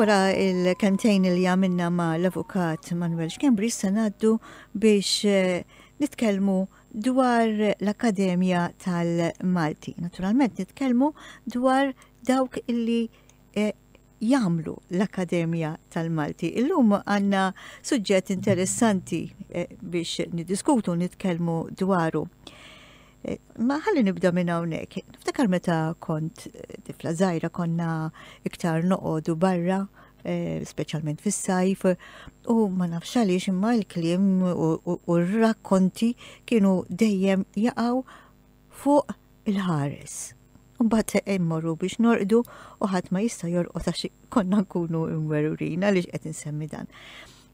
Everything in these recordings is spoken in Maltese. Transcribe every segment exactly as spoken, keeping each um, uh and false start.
Wara il-kelmtejn li għamilna ma l-avukat Manuel Schembri, issa ngħaddu biex eh, nitkellmu dwar l-Akkademja tal-Malti. Naturalment nitkellmu dwar dawk illi eh, jagħmlu l-Akkademja tal-Malti. Illum għandna suġġett interessanti eh, biex niddiskutu, nitkellmu dwaru. Eh, ma ħalli nibda minn hawnhekk. Niftakar meta kont eh, tifla żgħira, konna iktar noqogħdu barra, eh, speċjalment fis-sajf, u ma nafx għaliex imma l-kliem u r-rakkonti kienu dejjem jaqgħu fuq il-ħares. Mbagħad immorru biex norqdu u ħadd ma jista' jorqod għax konna nkunu imwerwrin. Għaliex qed insemmi dan?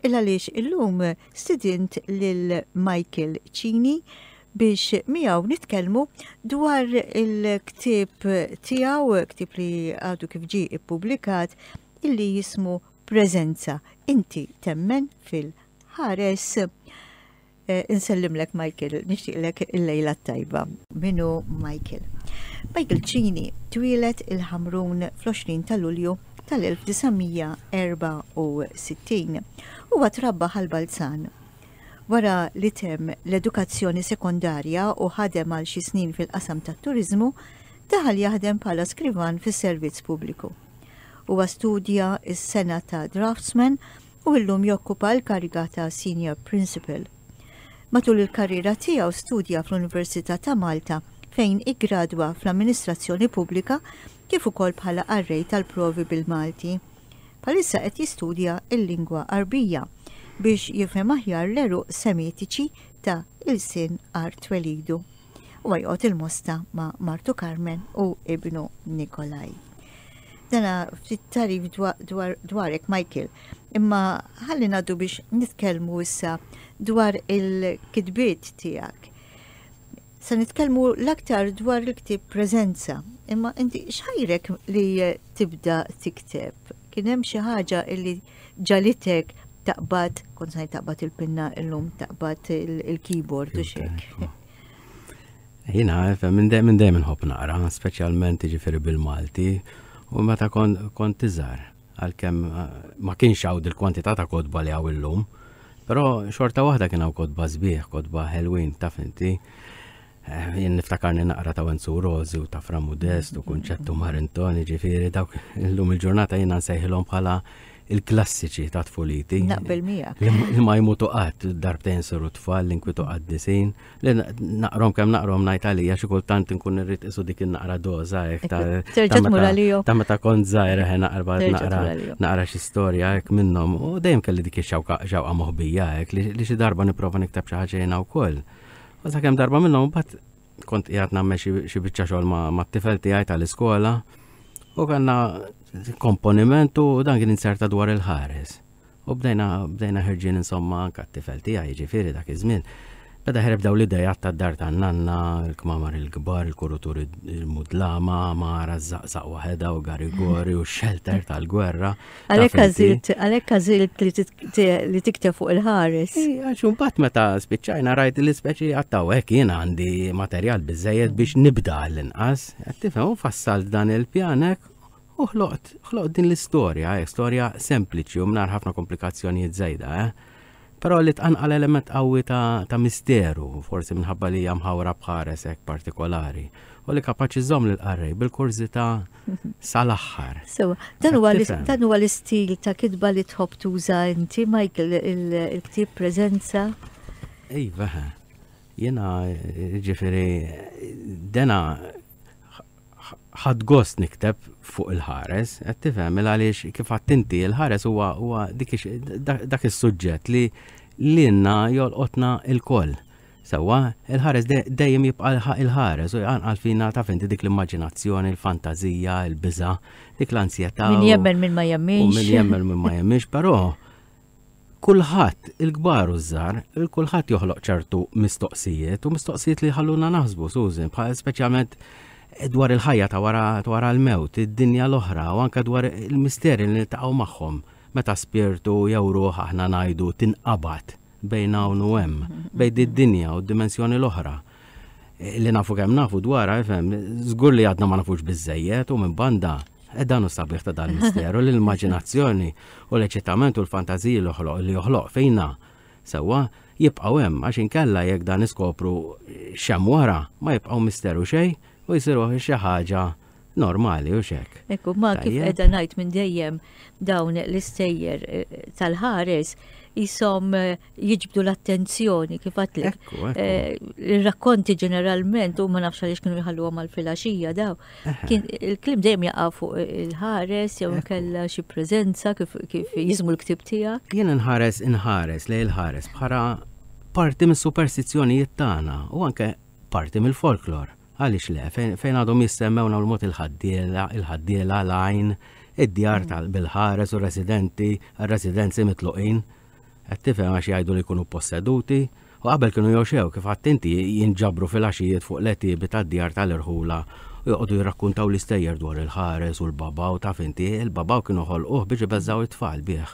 Illa għaliex illum stidint lil Michael Cini biex miegħu nitkellmu dwar il-ktieb tiegħu, ktieb li għadu kif ġie ippubblikat, illi jismu Preżenza. Inti temmen fil-ħares? Eh, insellimlek Michael, nixtieqlek il-lejla tajba. Min hu Michael? Michael Cini twieled il-Ħamrun fl-għoxrin ta' Lulju tal-elf disa' mija erbgħa u sittin. Huwa trabba Ħal Balzan. Wara li temm l-edukazzjoni sekondarja u ħadem għal xi snin fil-qasam tat-turizmu, daħal jaħdem bħala skrivan fis-servizz pubbliku. Huwa studja s-sengħa ta' draftsman u illum jokkupa l-kariga ta' senior principal. Matul il-karriera tiegħu studja fl-Università ta' Malta, fejn iggradwa fl-Amministrazzjoni Pubblika, kif ukoll bħala qarrej tal-provi bil-Malti. Bħalissa qed jistudja il-lingwa Arbija biex jifhem aħjar l-għeruq semitiċi ta' ilsien art twelidu. U joqgħod il-Mosta ma' martu Carmen u ibnu Nikolaj. Dana ftit tagħrif dwar dwarek, Michael, imma ħalli ngħaddu biex nitkellmu issa dwar il-kitbiet tiegħek. Se nitkellmu l-aktar dwar il-ktieb Preżenza, imma inti x'ħajrek li tibda tikteb? Kien hemm xi ħaġa illi ġagħlitek taqbad, kont se taqbad il-pinna, illum taqbad il-keyboard u xek? Jiena, minn dejjem nħobb naqra, speċjalment ġifieri bil-Malti, u meta kont iżgħar, għalkemm eh, ma kienx hawn il-kwantità ta' kotba li hawn illum, però xorta waħda kien hawn kotba sbieħ, kotba ħelwin, taf inti. Eh, jien niftakarni naqra ta' Wenzu Rożi u ta' Fra Modest u Kunċettu Marintoni, ġifieri dawk illum il-ġurnata jiena nsejħilhom bħala il-klassiċi ta' tfuliti. Naqbel miegħek. Li ma jmutu qatt, Darbtejn Siru Tfal, L-Inkwiet u Qaddisin, li naqrahom kemm naqrahom ngħid għalija xi kultant inkun irrid isu dik in-naqra doża hekk ta' Terġa' tmur għalihom. Ta' meta kont żgħir, eħe, naqra naqra naqra xi storja hekk minnhom u dejjem kelli dik ix-xewqa xewqa moħbija hekk li xi darba nipprova nikteb xi ħaġa jiena wkoll. U sakemm darba minnhom mbagħad kont qiegħed nagħmel xi biċċa xogħol ma' tifel tiegħi tal-iskola u kellna komponiment u dan kien inserta dwar il-ħares. U bdejna bdejna ħerġin, insomma, anka t-tifel tiegħi ġifieri dak iż-żmien. Beda ħereb daw l-idejat tad-dar tan-nanna, il-kmamar il-kbar, il-kurutur il-mudlama, mara żaqżaq waħedha u garigori u shelter tal-gwerra. Għalhekk għażilt, għalhekk għażilt li tikteb fuq il-ħares. Għax mbagħad meta spiċċajna rajt li speċi għattaw hekk jien għandi materjal biżejjed biex nibda għall-inqas. Qed tifhem, u fassalt dan il-pjanek u ħloqt, ħloqt din l-istorja, eh, storja sempliċi u mingħajr ħafna komplikazzjonijiet żejda, eh. Però li tqanqal element qawwi ta', ta misteru, forsi minħabba li hija mħawra b'ħares hekk partikolari, u li kapaċi żomm lill-qarrej bil-kurżità sal-aħħar. So, dan huwa dan huwa l-istil ta' kitba li tħobb tuża inti, Michael, il-ktieb Preżenza? Iva, jiena ġifieri dena ħadt gost nikteb fuq il-ħares, qed tifhem, għaliex kif inti il-ħares huwa huwa dak is-suġġett li lilna jolqotna lkoll. Sewwa, il-ħares dejjem jibqa' il-ħares u jqanqal fina, taf inti, dik l-immaġinazzjoni, il-fantazija, il-biża, dik l-ansjetà. Min jemmen, min ma jemminx. Min jemmen, min ma jemminx, però kulħadd, il-kbar u żgħar, il-kulħadd joħloq ċertu mistoqsijiet u mistoqsijiet li ħalluna naħsbu, Susan, bħal speċjalment dwar il-ħajja ta' wara wara l-mewt, id-dinja l-oħra u anke dwar il-misteri li niltaqgħu magħhom meta spirtu jew ruħ, aħna ngħidu, tinqabad bejn hawn u hemm, bejn id-dinja u d-dimensjoni l-oħra. Li nafu kemm nafu dwarha, ifhem, żgur li għadna ma nafux biżejjed u minn banda E dan hu sabiħ ta' dan misteru l-immaġinazzjoni u l-eċitament u l-fantaziji li joħloq fejna sewwa jibqgħu hemm għax inkella jekk dan iskopru x'hemm wara ma jibqgħu misteru xejn u jsiru xi ħaġa normali u xek. Ekku, ma kif qiegħda ngħid minn dejjem dawn l-istejjer eh, tal-ħares jisom eh, jiġbdu l-attenzjoni kif għatlek. Eh, il-rakkonti ġeneralment u ma nafx għaliex kienu jħalluhom għal filgħaxija daw. Kien il-kliem dejjem jaqa' fuq il-ħares jew kellha xi preżenza kif kif jiżmu l-ktib tiegħek. Jien inħares inħares lejn il-ħares bħala parti mis-superstizzjonijiet tagħna u anke parti mill-folklor. Għaliex le, fejn għadhom jissemmew l-mod il-ħaddiela, il-ħaddiela, l-għajn, id-djar tal bil-ħares u residenti, residenzi mitluqin. Qed tifhem għax jgħidu li jkunu posseduti u qabel kienu joxew kif għedt inti jinġabru fil-għaxijiet fuq l-għetiebi tad-djar tal-irħula u joqogħdu jirrakkuntaw l-istejjer dwar il-ħares u l-babaw taf inti, il-babaw kienu ħolquh biex ibeżżaw it-tfal bih.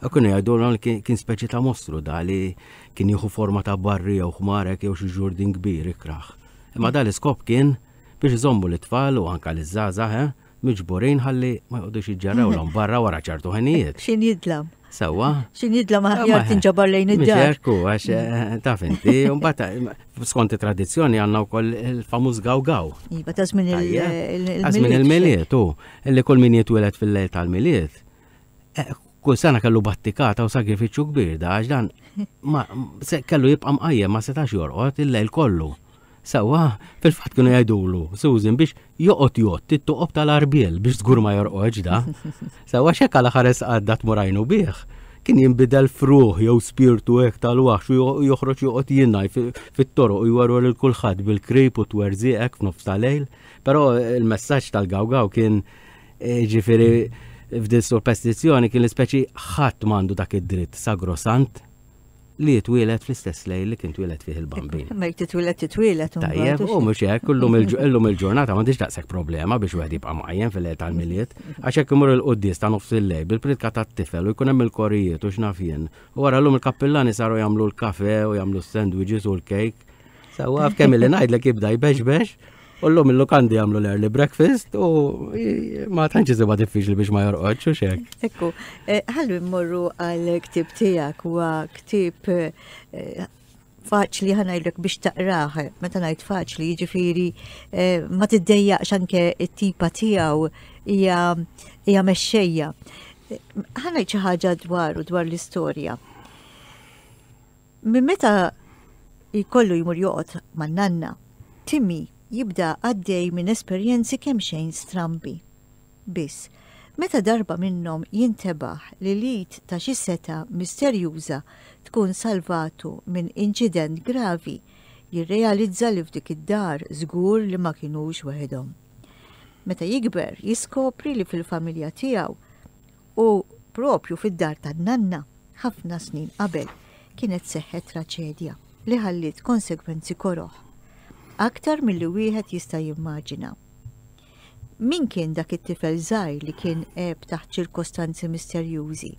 U kienu jgħidu li kien speċi ta' mostru da li kien jieħu forma ta' barri jew ħmarek jew xi ġurdin kbir ikraħ. Imma dal iskop kien biex iżommu l-tfal u anka l-żgħażagħ eh, miġburin ħalli ma joqogħdux jiġġerrawlhom barra wara ċertu ħinijiet. Xin jidlam. Sewwa. Xin jidlam aħjar tinġabar lejn id-dar. Ekku, għax eh, taf inti, mbagħad skont it-tradizzjoni għandna wkoll il-famuż gaw-gaw. Iva, ta' żmien il- żmien il-Milied, u illi kull min jitwieled fil-lejl tal-Milied. Eh, kull sena kellu battikata u sagrifiċċju kbir da għax dan ma kellu jibqa' mqajjem ma setax jorqod il-lejl kollu. Sewwa, fil-fatt kienu jgħidulu, Susan, biex joqgħod jgħodd it-toqob tal-arbiel biex żgur ma jorqodx da. Sewwa xek għala ħares għadda tmurajnu bih. Kien jinbidel fruħ jew spirtu hekk tal-waħx u joħroġ joqgħod jinnaj fit-toroq u jwarru lil kulħadd bil-krip u twerżieqek f'nofs tal-lejl. Però il-messaġġ tal-gawgaw kien eh, ġifieri f'din superstizzjoni kien l-ispeċi ħadd m'għandu dak id-dritt sagrosant li jitwielet fl-istess lejl li kien twieled fih il-bambin. Ma jek titwieled titwieled. Tajjeb, u mhux hekk, illum il-ġurnata m'għandix daqshekk problema biex wieħed jibqa' mqajjem fil-lejl tal-Milied, għax hekk imur il-quddies ta' nofs il-lejl bil-pritka tat-tifel u jkun hemm il-korijiet u x'naf jien. U wara llum il-kappillani saru jagħmlu l-kafe u jagħmlu s-sandwiches u l-kejk. Sewwa f'kemm li ngħidlek jibda jbex U l-lum il-lukandi jagħmlu l-early breakfast u ma tantx isibha diffiċli biex ma jorqodx u xek. Ekku, eh, ħallu mmorru għal ktib tiegħek huwa ktib eh, faċli ħa ngħidlek biex taqrah, meta ngħid faċli, jiġifieri eh, ma tiddejjaqx anke it-tipa tiegħu hija hija mexxejja. Ħa ngħid xi ħaġa dwar u dwar l-istorja. Minn meta jkollu jmur joqgħod man-nanna, Timmy jibda għaddej minn esperjenzi kemm xejn strambi. Biss, meta darba minnhom jintebaħ li l-id ta' xi seta misterjuża tkun salvatu minn inċident gravi, jirrealizza li f'dik id-dar żgur li ma kinux waħedhom. Meta jikber, jiskopri li fil-familja tiegħu u propju fid-dar tan-nanna ħafna snin qabel kienet seħħet traċedja li ħalliet konsegwenzi koroħ aktar milli wieħed jista' jimmaġina. Min kien dak it-tifel żgħir li kien għeb taħt ċirkostanzi misterjużi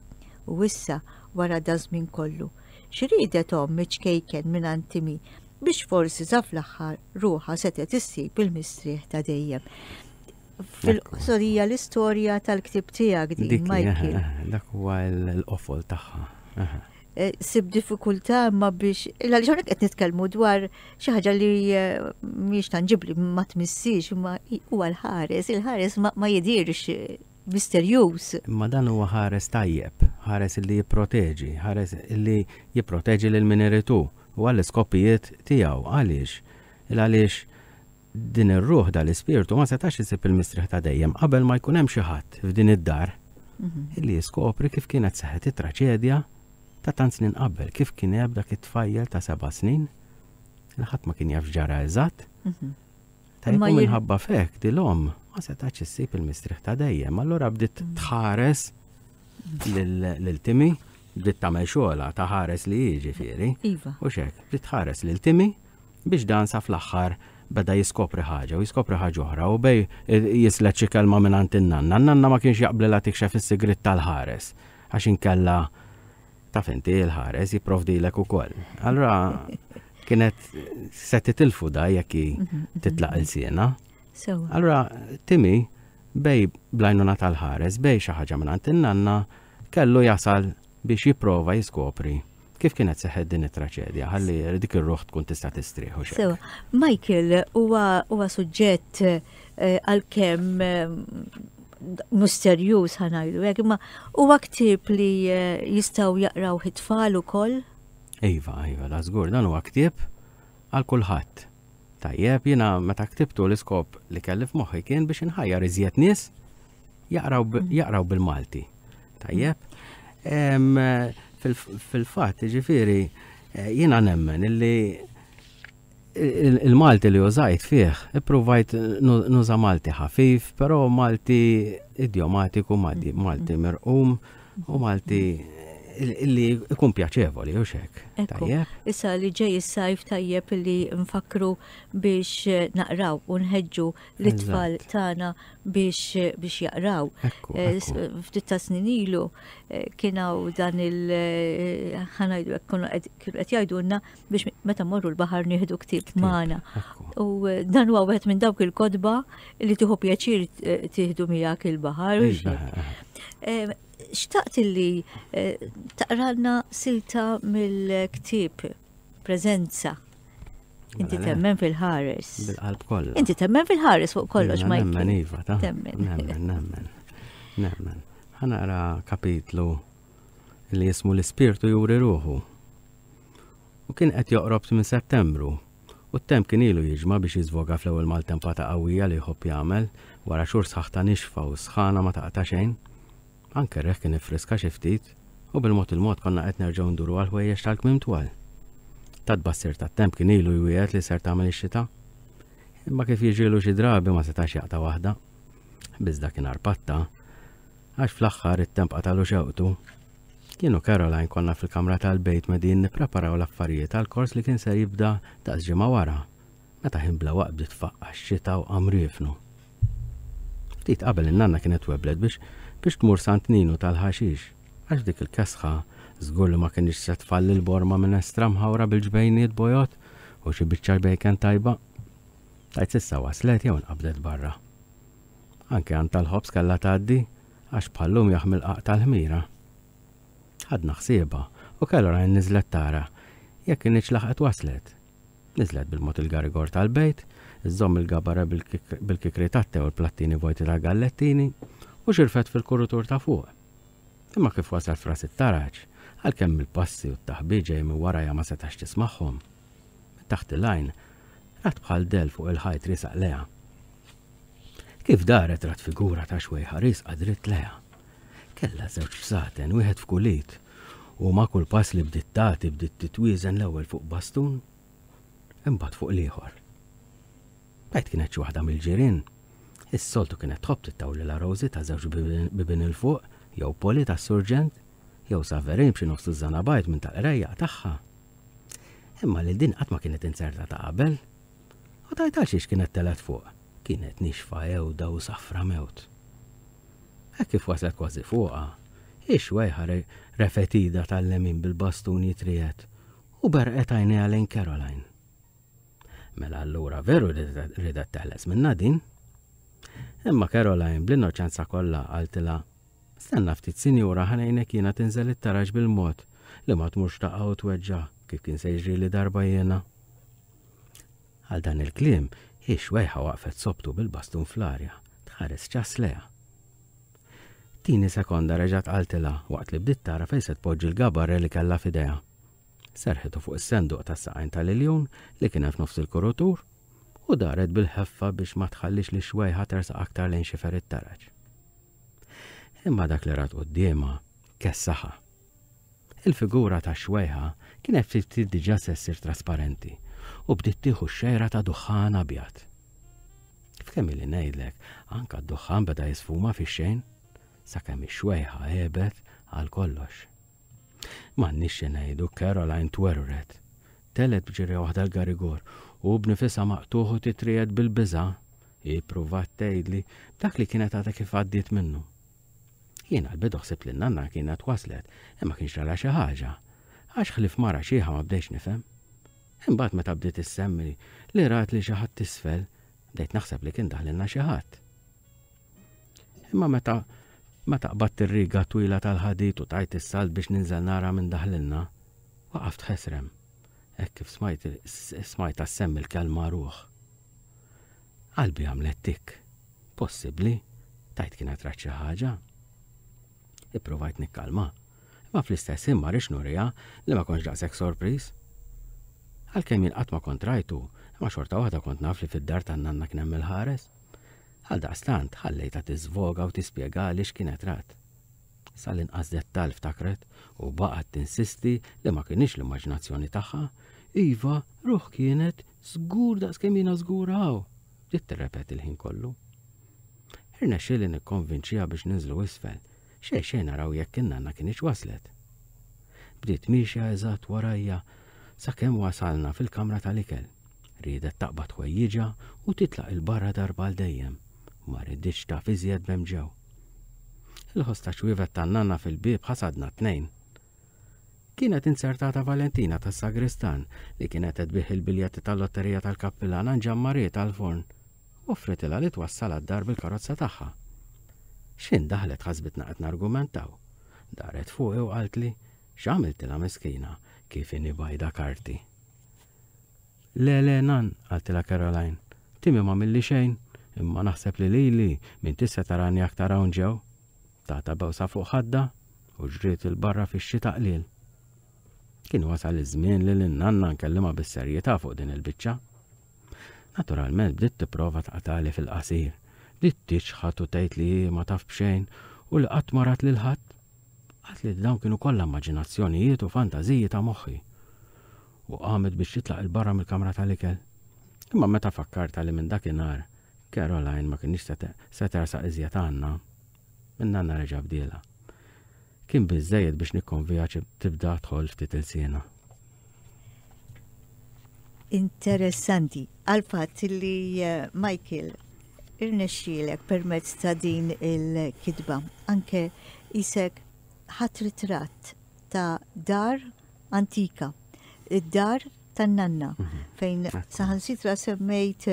u issa wara daż-żmien kollu, x'riedet omm iċ-ċkejken minn Timmy biex forsi sa fl-aħħar ruħha setgħet issib il-mistrieħ ta' dejjem. Fil-qosor hija l-istorja tal-ktib tiegħek din, Michael. Dak huwa l-qofol tagħha. Eh, sib diffikultà ma biex, għaliex hawnhekk qed nitkellmu dwar xi ħaġa li eh, mhijiex tanġibli ma tmissix, ma huwa l-ħares, il-ħares ma jidirx misterjuż. Ma dan huwa ħares tajjeb, ħares li jipproteġi, ħares li jipproteġi lil min irid u għall-iskopijiet tiegħu għaliex il għaliex din ir-ruħ dal-ispirtu ma setax isib il-mistrieħ ta' dejjem qabel ma jkun hemm xi ħadd f'din id-dar mhm. illi jiskopri kif kienet seħħet it-traċedja ta' tant snin qabel, kif kien hemm dak it-tfajjel ta' seba' snin, li ħadd ma kien jaf ġara eżatt. Mhm. Tajjeb minħabba fek dil-om ma setax issib il-mistrieħ ta' dejjem, allura bdiet mhm. tħares lil Timmy, bdiet tagħmel xogħla ta' ħares li jiġifieri. Iva. U xek, bdiet tħares lil Timmy biex dan sa fl-aħħar beda jiskopri ħaġa u jiskopri ħaġa oħra u bej jislet xi kelma minn għand in-nanna. N-nanna ma kienx jaqblilha tikxef is-sigriet tal-ħares għax inkella taf inti l-ħares jipprovdilek ukoll. Allura kienet se titilfu da jekk mhm, mhm, titlaq mhm. il-siena. Allura Timmy Bej bl-għajnuna tal-ħares, bej xi ħaġa minn in-nanna, kellu jasal biex jipprova jiskopri kif kienet seħħet din it-traċedja, ħalli dik ir-ruħ tkun tista' tistrieħ u Sewa, Michael huwa huwa suġġett eh, għalkemm eh, misterjuż ħa ngħidu hekk, imma huwa ktieb li eh, jistgħu jaqraw it-tfal ukoll. Iva, iva, da żgur, dan huwa ktieb għal kulħadd. Tajjeb, jiena meta ktibtu l-iskop li kelli f'moħħi kien biex inħajjar iżjed nies jaqraw mm. jaqraw bil-Malti. Tajjeb. Fil-fatt, ġifieri, eh, jiena nemmen illi il-Malti li użajt fih, ippruvajt nuża Malti ħafif, però Malti idiomatiku, Malti, mm. Malti mirqum u Malti illi ikun pjaċevoli u xek. Tajjeb. Issa li ġej is-sajf tajjeb li nfakru biex eh, naqraw u nħeġġu l-itfal tagħna biex biex jaqraw. Eh, ftit ta' snin ilu eh, kien hawn dan il ħa ngħidu kienu qed jgħidulna biex meta morru l-baħar nieħdu ktieb magħna. U dan huwa wieħed minn dawk il-kotba li tieħu pjaċir tieħdu miegħek il-baħar. Xtaqt illi eh, taqralna silta mill-ktieb Preżenza. Inti mela temmen fil-ħares. Bil-qalb kollha. Inti temmen fil-ħares fuq kollox, ma Nemmen iva, ta' temmen. Nemmen, nemmen. Nemmen. Ħa naqra kapitlu li jismu l-Ispirtu juri ruħu. U kien qed joqrob minn Settembru. U t-temp kien ilu jiġma biex jiżvoga fl-ewwel maltempata qawwija li jħobb jagħmel wara xhur sħaħ ta' nixfa u sħana ma taqta' xejn. Anke r-riħ kien iffriska xi ftit u bil-mod il-mod konna qed nerġgħu nduru għall-ħwejjeġ tal-kmiem twal. Tat-tbassir tat-temp kien ilu jwiegħed li ser tagħmel ix-xita. Imma kif jiġrilu xi drabi ma setax jaqta' waħda. Biss dakinhar patta, għax fl-aħħar it-temp qatalu xewqtu. Jien u Caroline konna fil-kamra tal-bejt medin nippreparaw l-affarijiet għall-kors li kien ser jibda daqs ġimgħa wara, meta ħin bla waqt bdiet tfaqqa' x-xita u qam riefnu. Ftit qabel in-nanna kienet webblet biex biex tmur Sant Ninu tal-ħaxix, għax f'dik il-kesħa żgur li ma kinitx se tfalli l-borma minestra mħawra bil-ġbejniet bojod u xi biċċa bejken tajba. Tgħid s'issa waslet jew inqabdet barra. Anke għand tal-ħobż kellha tgħaddi għax bħal-lum jaħmi l-qagħaq tal-ħmira. Ħadna ħsiebha u Caroline niżlet tara jekk kinitx laħqet waslet. Niżlet bil-mod il-garigor tal-bejt, iżżomm il-gabara bil-kikri tat-te u l-plattini vojti tal-gallettini, u xirfet fil-kurutur ta' fuq. Imma kif waslet f'ras it-taraġ, għalkemm il-passi u t-taħbit ġej minn warajha ma setax tismagħhom, minn taħt il-għajn rat bħal dell fuq il-ħajt riesaq lejha. Kif daret rat figura ta' xwejħa riesqa dritt lejha. Kellha żewġ bsaten, wieħed f'kull id, u ma' kull pass li bdiet tagħti bdiet titwieżen l-ewwel fuq bastun, imbagħad fuq l-ieħor. Tgħid kienet xi waħda mill-ġirien. Is-soltu kienet tħobb tittawlilha Rosie ta' żewġ bibien 'il fuq, jew Polly tas-surġent, jew Saverin b'xi nofs tużżana bajd minn tal-qrejjaq tagħha. Imma lil din qatt ma kienet inzertata qabel. U tgħid għalxiex kienet telgħet fuq. Kienet nixfa għewda u safra mewt. Hekk kif waslet kważi fuqha, ix-xwejħa refgħet idha tal-lemin bil-bastun jitriegħed u berqet għajnejha lejn Caroline. Mela allura veru ridet teħles minnha din. Imma Caroline bl-innoċenza kollha qaltilha, Stenna ftit sinjura ħa ngħinek jiena tinżel it-taraġ bil-mod li ma tmurx taqa' u tweġġa' kif kien se jiġrili darba jiena. Għal dan il-kliem, hi xwejħa waqfet sobtu bil-bastun fl-arja, tħares ċass lejha. Tini sekonda reġgħet qaltilha waqt li bdiet tara fejn se tpoġġi l-gabarre li kellha f'idejha. Serrħitu fuq is-senduq tas-saqajn tal-iljun li kien hemm f'nofs il-kurutur u daret bil-ħeffa biex ma tħallix lix-xwejħa tersaq aktar lejn xifer it-taraġ. Imma dak li rat quddiemha kessaħha. Il-figura tax-xwejħa kienet ftit ftit diġà se ssir trasparenti u bdiet tieħu x-xejra ta' duħħan abjad. F'kemm ili ngħidlek, anke d-duħħan beda jisfuma fix-xejn sakemm ix-xwejħa għebet għal kollox. M'għandniex xi ngħidu, Caroline twerwret. Telgħet b'ġirja waħda l-garigor u b'nifisha maqtugħ u titriegħed bil-biża', hi ppruvat tgħidli b'dak li kienet għadha kif għaddiet minnu. Jien għall-bidu ħsibt li n-nanna kienet waslet imma kien ġralha xi ħaġa, għax ħlief mara xiħa ma bdejtx nifhem. Imbagħad meta bdiet issemmi li rat lil xi ħadd isfel, bdejt naħseb li kien daħlilna xi ħadd. Imma meta meta qbadt ir-riga twila tal-ħadid u tajt is-salt biex ninżel nara minn daħlilna, waqaft ħesrem. Hekk kif smajt smajtha ssemmi l-kelma ruħ. Qalbi għamlet tik. Possibbli? Tgħid kienet rat xi ħaġa? Ipprovajt nikkalma. Imma fl-istess ħin ma rridx nuriha li ma kontx daqshekk sorpriż. Għalkemm jien qatt ma kont rajtu, imma xorta waħda kont naf li fid-dar tan-nanna kien hemm il-ħares. Għaldaqstant ħallejtha tiżvoga u tispjegali x'kienet rat. Sal-inqas dettall ftakret u baqgħet tinsisti li ma kinitx l-immaġinazzjoni tagħha. Iva, ruħ kienet żgur daqskemm jiena żgur hawn. Bdiet tirrepeti l-ħin kollu. Irnexxieli nikkonvinċiha biex ninżlu isfel, xejn xejn naraw jekk in-nanna kinitx waslet. Bdiet miexja eżatt warajja sakemm wasalna fil-kamra tal-ikel. Riedet taqbad ħwejjiġha u titlaq 'il barra darba għal dejjem. Ma riditx taf iżjed b'hemm ġew. Il-ħoss ta' ċwievet tan-nanna fil-bieb ħasadna t-tnejn. Kienet inzertata Valentina tas-sagristan li kienet qed tbigħ il-biljetti tal-lotterija tal-kappillan għand Ġanmarie tal-forn u offritilha li twassalha d-dar bil-karozza tagħha. X'ħin daħlet ħasbitna qed nargumentaw. Daret fuqi u qaltli x'għamiltilha miskina kif inhi bajda karti. Le, le, nan, qaltilha Caroline, Timmy m'għamilli xejn, imma naħseb li lili m'intix se tarani aktar hawn ġew. Tata bewsa fuq ħadda u ġriet 'il barra fix-xita qliel. Kien wasal iż-żmien li lin-nanna nkellimha bis-serjetà fuq din il-biċċa. Naturalment bdiet tipprova tqatali fil-qasir. Bdiet tiċħad u tgħid li hi ma taf b'xejn u li qatt ma rat lil ħadd. Qaltli li dawn kienu kollha immaġinazzjonijiet u fantażiji ta' moħħi. U qamet biex titlaq 'il barra mill-kamra tal-ikel. Imma meta fakkartha li minn dakinhar Caroline ma kinitx se tersaq iżjed għandna, in-nanna reġa' bdielha. Kien biżżejjed biex nikkonviha tibda tħoll ftit ilsienha. Interessanti għal-fatt li eh, Michael irnexxielek permezz ta' din il-kitba anke isek ħadd ritratt ta' dar antika, id-dar tan-nanna, mhm. fejn saħansitra semmejt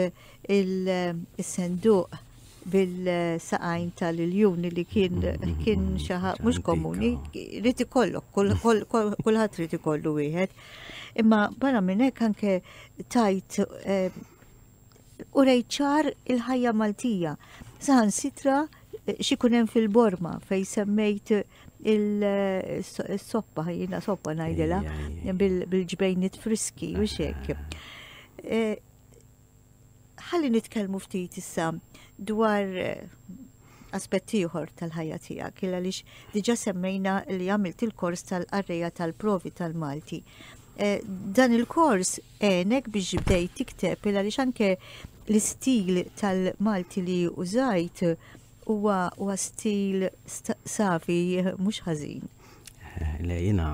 il-senduq bil-saqajn tal-iljun li kien mhm. kien xi ħaġa mhux komuni, irid ikollok, kulħadd irid ikollu wieħed. Imma barra minn hekk anke tajt eh, u ċar il-ħajja Maltija. Saħansitra eh, x'ikun hemm fil-borma fej semmejt il-soppa, jiena soppa ngħidilha, bil-ġbejniet friski u xek. Eh, ħalli nitkellmu ftit issa dwar aspetti ieħor tal-ħajja tiegħek, il għaliex diġà semmejna li għamilt il-kors tal-qarrejja tal-provi tal-Malti. Eh, dan il-kors għenek biex bdejt tikteb il għaliex anke l-istil tal-Malti li użajt huwa huwa stil safi mhux ħażin. Eh, le jiena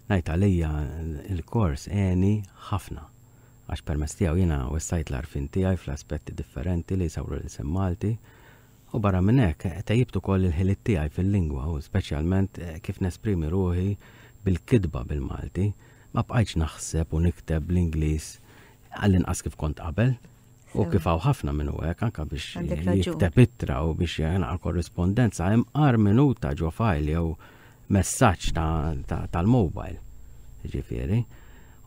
ngħid għalija il-kors għeni ħafna għax permezz tiegħu jiena wessajt l-għarfien tiegħi fl-aspetti differenti li jsawru l-ilsien Malti u barra minn hekk tejjibt ukoll il-ħiliet tiegħi fil-lingwa u speċjalment eh, kif nesprimi ruħi bil-kitba bil-Malti. Ma bqajtx naħseb u nikteb bl-Ingliż għall-inqas kif kont qabel. U kif hawn ħafna minnu hekk anke biex jikteb ittra u biex jaqra korrispondenza imqar minuta ġo file jew messaġġ tal-mobile. Ġifieri.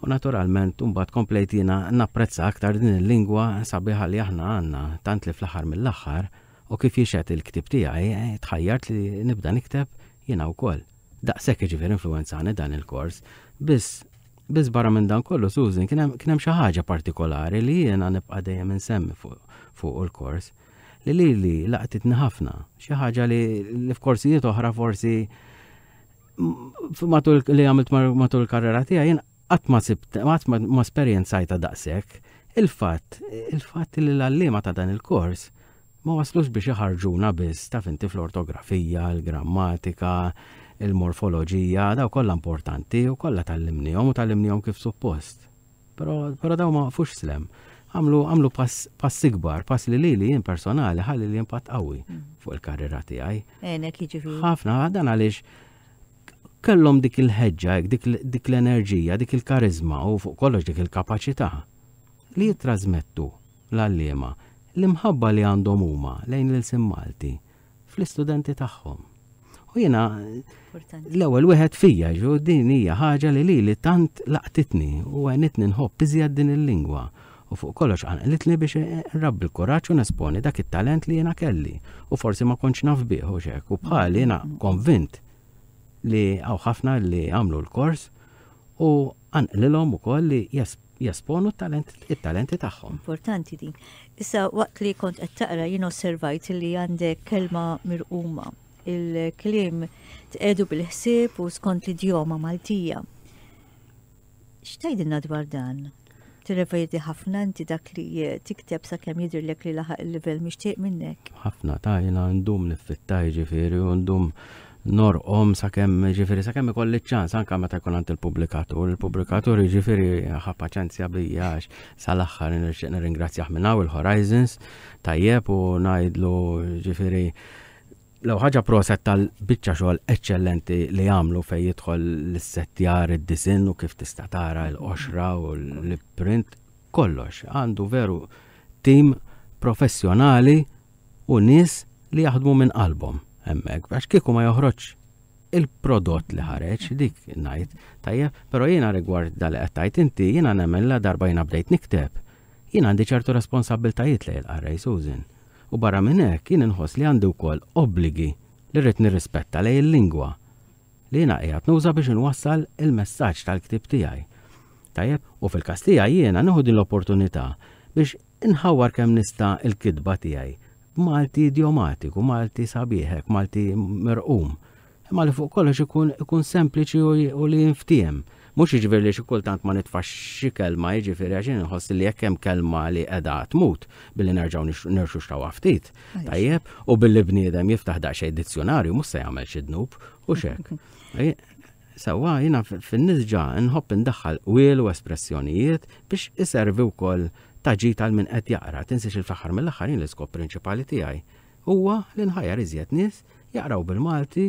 U naturalment mbagħad komplejt jiena napprezza aktar din il-lingwa sabiħa li aħna għandna tant li fl-aħħar mill-aħħar u kif jixhed il-ktib tiegħi eh, tħajjart li nibda nikteb jiena wkoll. Daqshekk jiġifieri influwenzani dan il-kors. Biss biss barra minn dan kollu Susan kien hemm xi ħaġa partikolari li jiena nibqa' dejjem insemmi fuq il-kors li li li laqtitni ħafna. Xi ħaġa li, li f'korsijiet oħra forsi matul li għamilt matul il-karriera tiegħi jien qatt ma sibt, qatt ma esperjenzajta daqshekk. Il-fatt, il-fatt li l-għalliema ta' dan il-kors ma waslux biex iħarġuna biss taf inti fl-ortografija, il-grammatika, il-morfoloġija, daw kollha importanti u kollha tgħallimnihom u tgħallimnihom kif suppost. Però, però daw ma waqfux s'hemm. Għamlu għamlu pass, pass ikbar, pass li lili jien personali ħalli li impatt qawwi mm. fuq il-karriera tiegħi. Għenek jiġifieri. Ħafna dan għaliex kellhom dik il-ħeġġa, dik, dik l-enerġija, dik il-karizma u fuq kollox dik il-kapaċità li jitrasmettu l-għalliema l-imħabba li għandhom huma lejn l-ilsien Malti fl-istudenti tagħhom. U jiena l-ewwel wieħed fija ġu din hija ħaġa li lili tant laqtitni u għenitni nħobb iżjed din il-lingwa. U fuq kollox qanqlitni biex nrabbi l-kuraġġ u nesponi dak it-talent li jiena kelli. U forsi ma kontx naf bih u xek. U bħali jiena konvint li hawn ħafna li għamlu l-kors u qanqlilhom ukoll li jesponu it-talenti tagħhom. Importanti din. Issa waqt li kont qed taqra jien osservajt li għandek kelma mirquma. Il-kliem tqedu bil-ħsieb u skont l-idjoma Maltija. X'tgħidilna dwar dan? Tirrevedi ħafna inti dak li tikteb sakemm jidhirlek li laħaq il-livell mixtieq minnek? Ħafna ta' jiena ndum niffitta jiġifieri u ndum norqom sakemm jiġifieri sakemm ikolli ċans anke meta jkun għand il-pubblikatur. Il-pubblikatur jiġifieri ħa paċenzja bija għax sal-aħħar nixtieq nirringrazzjah minn hawn il-Horizons tajjeb u ngħidlu jiġifieri l ħaġa proset tal-biċċa xogħol eċċellenti li għamlu fejn jidħol l-issettjar, id-disinn u kif tista' tara l-qoxra u l-print, kollox. Għandu veru tim professjonali u nies li jaħdmu minn qalbhom hemmhekk, għax kieku ma joħroġ il-prodott li ħareġ, dik ngħid, tajjeb, però jiena rigward dal qed tgħid inti, jiena nemmen la darba jiena bdejt nikteb. Jiena għandi ċertu responsabbiltajiet lejn il-qarrej Susan. U barra minn hekk jien inħoss li għandi wkoll obbligi li rrid nirrispetta lejn il-lingwa li jiena qiegħed nuża biex inwassal il-messaġġ tal-ktieb tiegħi. Tajjeb, u fil-każ tiegħi jiena nieħu din l-opportunità biex inħawwar kemm nista' il-kitba tiegħi b'Malti idiomatiku, Malti sabiħek, Malti mirqum. Imma li fuq kollox ikun ikun sempliċi u li jinftiehem. Mhux jiġifieri li xi kultant ma nitfax xi kelma jiġifieri għax inħoss li jekk hemm kelma li qiegħda tmut billi nerġgħu nirxuxtawha ftit. Tajjeb, u billi bniedem jiftaħ daqsxejn dizzjonarju mhux se jagħmel xi dnub u xek. Sewwa jiena fin-nisġa nħobb indaħħal qwiel u espressjonijiet biex iservi wkoll ta' ġid għal min qed jaqra. Tinsiex il-fl-aħħar mill-aħħar jien l-iskop prinċipali tiegħi huwa li nħajjar iżjed nies jaqraw bil-Malti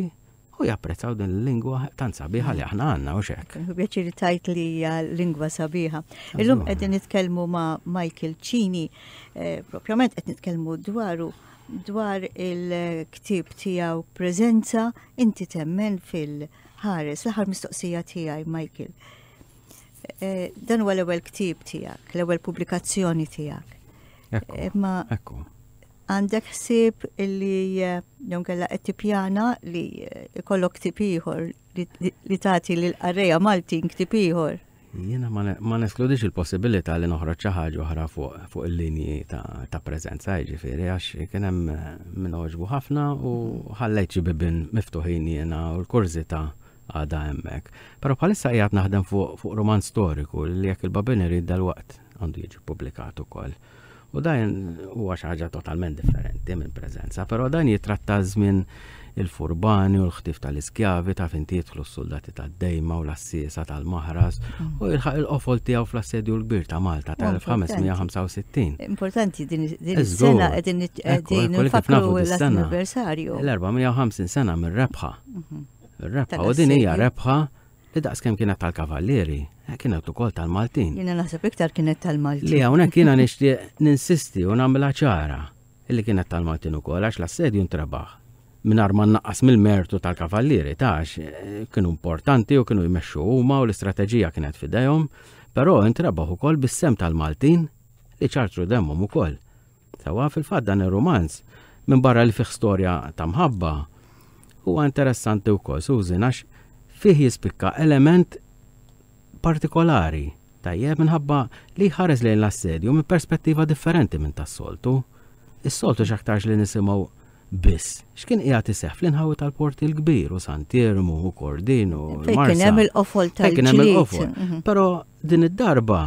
u japprezzaw din il-lingwa tant sabiħa li aħna għandna u xek. Pjaċir tajt li hija lingwa sabiħa. Illum qegħdin nitkellmu ma' Michael Cini, eh, propjament qed nitkellmu dwaru dwar il-ktieb tiegħu Preżenza, inti temmen fil-ħares. L-aħħar mistoqsija tiegħi, Michael. Eh, dan huwa l-ewwel ktieb tiegħek, l-ewwel pubblikazzjoni tiegħek. Imma Ekku. għandek ħsieb illi eh, jew kellha qed tippjana li eh, ikollok ktieb ieħor li tagħti lil qarrejja Maltin ktieb ieħor. Jiena ma neskludix il-possibilità li noħroġ xi ħaġa oħra fuq fuq il-linji ta', ta preżenza, jiġifieri għax kien hemm min għoġbu ħafna u ħallejt xi bibien miftuħin jiena u l-kurżità għadha hemmhekk. Però bħalissa qiegħed naħdem fuq fuq romanz storiku li jekk il-Babin irid dalwaqt għandu jiġi ppubblikat ukoll. U dan huwa xi ħaġa totalment differenti minn Preżenza, però dan jitratta żmien il-furbani u l-ħtif tal-iskjavi ta' finti jidħlu s-soldati tad-dejma u l-assisa tal-maħras u jilħaq il-qofol tiegħu fl-assedju l-kbir ta' Malta tal-elf ħames mija u ħamsa u sittin. Importanti din is-sena qegħdin qegħdin nfakru l-anniversarju. L-erba' mija u ħamsin sena mir-rebħa. Ir-rebħa u din hija rebħa li daqskemm kienet tal-kavallieri, kienet ukoll tal-Maltin. Jiena naħseb iktar kienet tal-Maltin. Li hawnhekk jiena nixtieq ninsisti u nagħmilha ċara illi kienet tal-Maltin ukoll għax l-assedju ntrebaħ. Mingħajr ma nnaqqas mill-mertu tal-kavallieri tax kienu importanti u kienu jmexxu huma u l-istrateġija kienet f'idejhom, però intrebaħ ukoll bis-sehem tal-Maltin li ċartru demmhom ukoll. Sewwa fil-fatt dan ir-romanz minn barra li fih storja ta' mħabba huwa interessanti wkoll Susan għax fih jispikka element partikolari tajjeb minħabba li ħares lejn l-assedju minn perspettiva differenti minn tas-soltu. Is-soltu x'aktarx li nisimgħu biss. X'kien qiegħed iseħħ fl-inħawi tal-Port il-Kbir u Sant'Iermu u Kordin u Fejn kien hemm il-qofol Fejn kien hemm tal-ġlied. il-qofol. Però din id-darba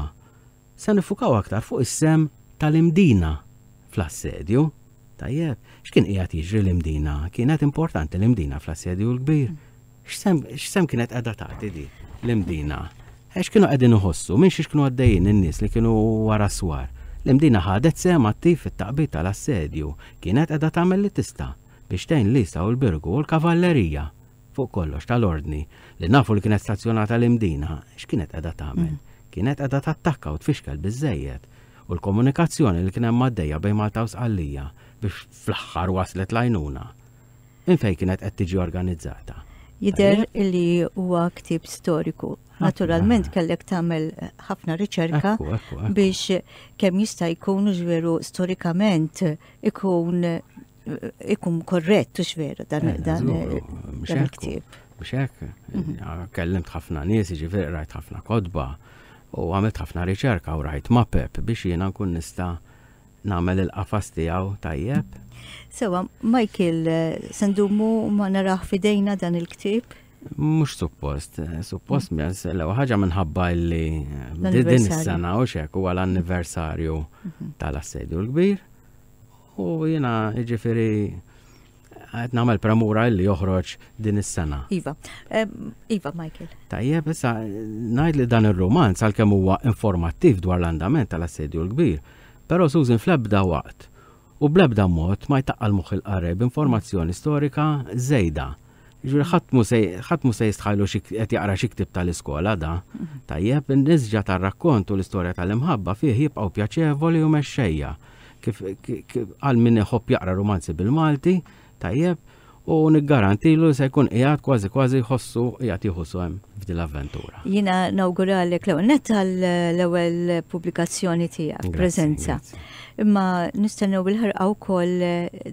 se nifukaw aktar fuq is-sehem tal-Imdina fl-assedju. Tajjeb, x'kien qiegħed jiġri l-Imdina? Kienet importanti l-Imdina fl-assedju l-kbir. X'sehem kienet qiegħda tagħti di l-Imdina? Għax kienu qegħdin iħossu, minn xiex kienu għaddejjin in-nies li kienu wara swar. L-Imdina ħadet sehem attiv fit-taqbid tal-assedju, kienet qiegħda tagħmel li tista' biex tgħin Lisa u l-Birgu u l-kavallerija fuq kollox tal-ordni li nafu li kienet stazzjonata l-Imdina, x'kienet qiegħda tagħmel? Kienet qiegħda tattakka u tfixkel biżejjed. U l-komunikazzjoni li kien hemm għaddejja bejn Malta u Sqallija biex fl-aħħar waslet l-għajnuna. Minn fejn kienet qed tiġi organizzata. Jidher li huwa ktieb storiku. Naturalment kellek tagħmel ħafna riċerka biex kemm jista' jkun veru storikament ikun ikun korrett u veru dan eh, dan il-ktieb. Mhux hekk, mhm. kellimt ħafna nies, jiġifieri rajt ħafna kotba u għamilt ħafna riċerka u rajt mapep biex jiena nkun nista' nagħmel il-qafas tiegħu tajjeb. Sewa, Michael, se ndumu ma naraħ f'idejna dan il-ktieb? Mhux suppost, suppost mens, l ħaġa minħabba li din is-sena u xek huwa l-anniversarju mhm. tal-Assedju l-Kbir. U jiena jiġifieri qed nagħmel premura li joħroġ din is-sena. Iva, Iva, Michael. Tajjeb, issa ngħid li dan ir-rumanz għalkemm huwa informattiv dwar l-andament tal-Assedju l-Kbir, però Susan fl-ebda waqt u bl-ebda mod ma jtaqqal moħħ il-qarrej b'informazzjoni storika żejda. Ġifieri ħadd mhu se jistħajlu qed jaqra xi ktieb tal-iskola da. Tajjeb, in-nisġa tar-rakkont u l-istorja tal-imħabba fih jibqgħu pjaċevoli u mexxejja. Kif għal min iħobb jaqra rumanzi bil-Malti, tajjeb, u niggarantilu se jkun qiegħed kważi kważi jħossu qiegħed jieħu sehem f'din l-avventura. Jiena nawguralek l-ewwel nett għall-ewwel pubblikazzjoni tiegħek, preżenza. Imma nistennew bil-ħerqa wkoll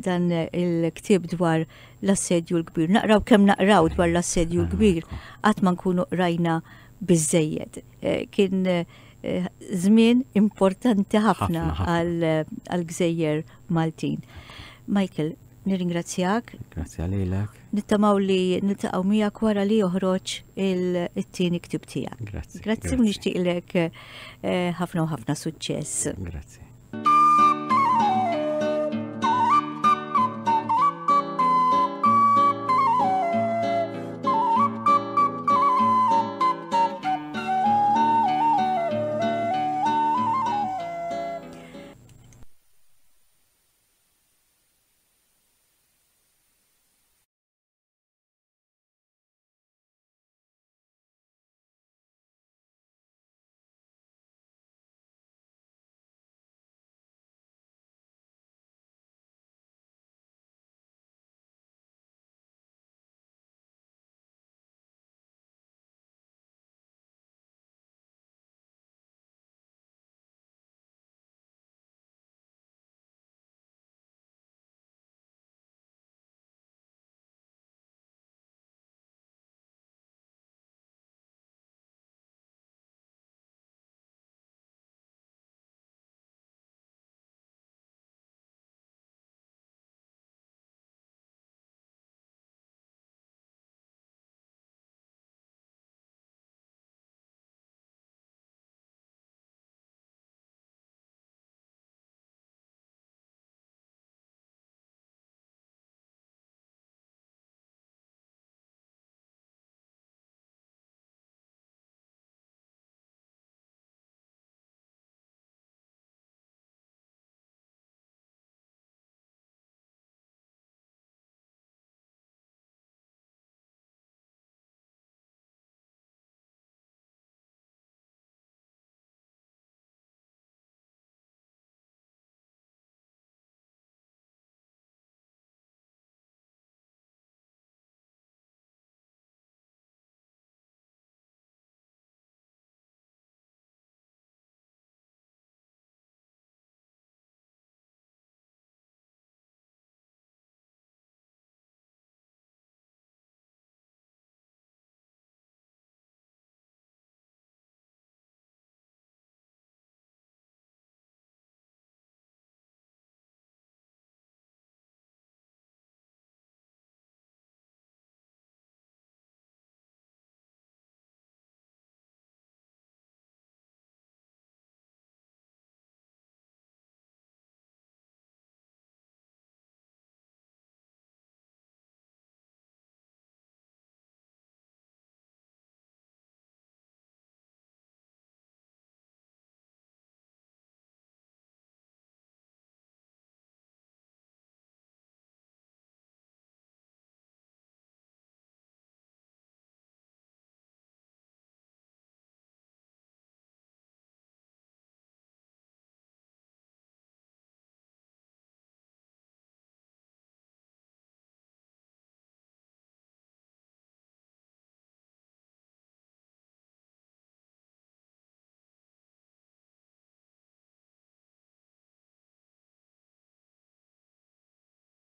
dan il-ktieb dwar l-Assedju l-Kbir. Naqraw kemm naqraw dwar l-Assedju l-Kbir, qatt ma nkunu qrajna biżejjed. Eh, kien eh, żmien importanti ħafna għal-gżejjer Maltin. Michael, nirringrazzjak. Grazzi għalilek. Nittamaw li niltaqgħu miegħek wara li joħroġ il-tieni ktieb tiegħek. Grazzi. Grazzi u nixtieqlek eh, ħafna u ħafna suċċess. Grazzi.